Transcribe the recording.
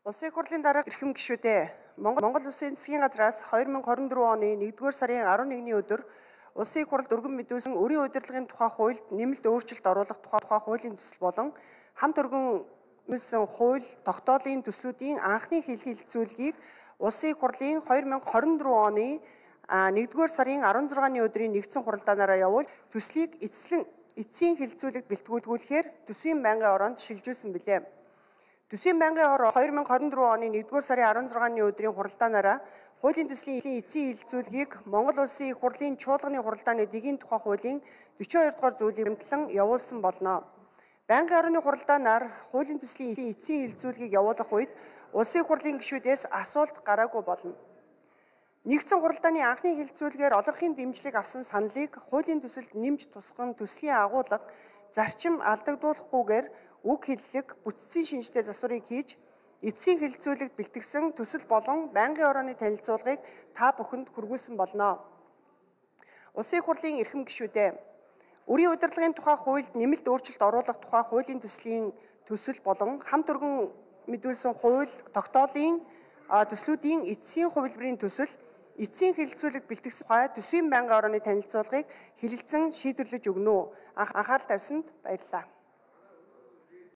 Улсын их хурлын дарга эрхэм гишүүдээ Монгол Улсын засгийн газраас 2024 оны 1-р сарын 11-ний өдөр Улсын их хурлд өргөн мэдүүлсэн өрийн удирдлагын тухай хуульд нэмэлт өөрчлөлт оруулах тухай хуулийн төсөл болон хамт өргөн мэдүүлсэн хууль тогтоолын төслүүдийн анхны хэлэлцүүлгийг Улсын их хурлын 2024 оны 1-р сарын 16-ны өдрийн нэгдсэн хуралдаанаараа явуул төслийг эцсийн хэлэлцүүлэгт бэлтгүүлэхээр төсвийн байнгын ороонд шилжүүлсэн билээ. Төсвийн байнгын ороо 2024 оны 1-р сарын 16-ны өдрийн хуралдаанаараа хуулийн төслийн эцсийн хэлэлцүүлгийг Монгол Улсын их хурлын чуулганы хуралдааны дэгийн тухай хуулийн 42 дугаар зүйлийг хэмтлэн явуулсан болно. Байнгын орооны хуралдаанаар хуулийн төслийн эцсийн хэлэлцүүлгийг явуулах үед Улсын их хурлын гишүүдээс асуулт гараагүй болно. Нэгдсэн хуралдааны анхны хэлэлцүүлгээр олонхын дэмжлэг авсан саналыг хуулийн төсөлд нэмж тусган төслийн агуулга зарчим алдагдуулахгүйгээр үг хэллэг бүтцийн шинжтэй засварыг хийж эцсийн хэлэлцүүлэгт бэлтгэсэн төсөл болон байнгын орооны танилцуулгыг та бүхэнд хүргүүлсэн болно. Улсын их хурлын эрхэм гишүүдээ өрийн удирдлагын тухай хуульд нэмэлт өөрчлөлт оруулах тухай хуулийн төслийн төсөл болон хамт өргөн мэдүүлсэн хууль тогтоолын төслүүдийн эцсийн хувилбарын төсөл эцсийн хэлэлцүүлэгт бэлтгэсэн тухай төсвийн байнгын орооны танилцуулгыг хэлэлцэн шийдвэрлэж өгнө үү? Анхаарал тавьсанд баярлалаа.